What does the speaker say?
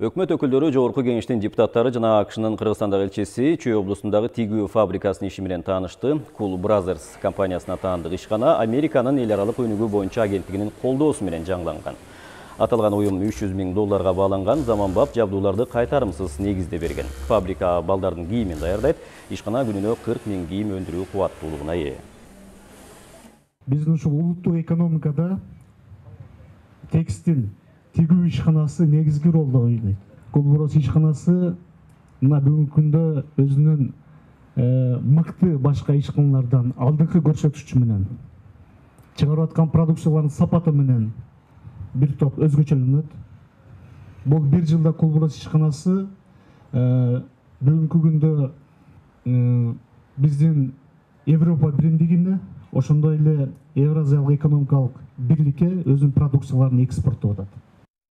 Өкмөт өкүлдөрү, Жогорку Кеңештин депутаттары жана АКШнын Кыргызстандагы элчиси Чүй облусундагы тигүү фабрикасынын иши менен таанышты. Cool Brothers компаниясына таандык ишкана Американын эл аралык өнүгүү боюнча агенттигинин колдоосу менен жаңыланган. Аталган уюм $300 000 бааланган заманбап жабдууларды кайтарымсыз негизде берген. Фабрика балдардын кийимин даярдайт, ишкана күнүнө 40 000 кийим өндүрүү кубаттуулугуна ээ. Биздин ушул улуттук экономикада текстиль тигүү ишканасы негизги ролду ойнойт. Cool Brothers ишканасы мына бүгүнкү күндө өзүнүн мыкты башка ишканалардан алдыңкы көрсөткүчү менен чыгарып аткан продукциялардын сапаты менен бир топ өзгөчөлөнөт. Бул бир жылда Cool Brothers ишканасы бүгүнкү күндө биздин Европа биримдигине, ошондой эле Евразиялык экономикалык бирликке өзүнүн продукцияларын экспорттоп атат.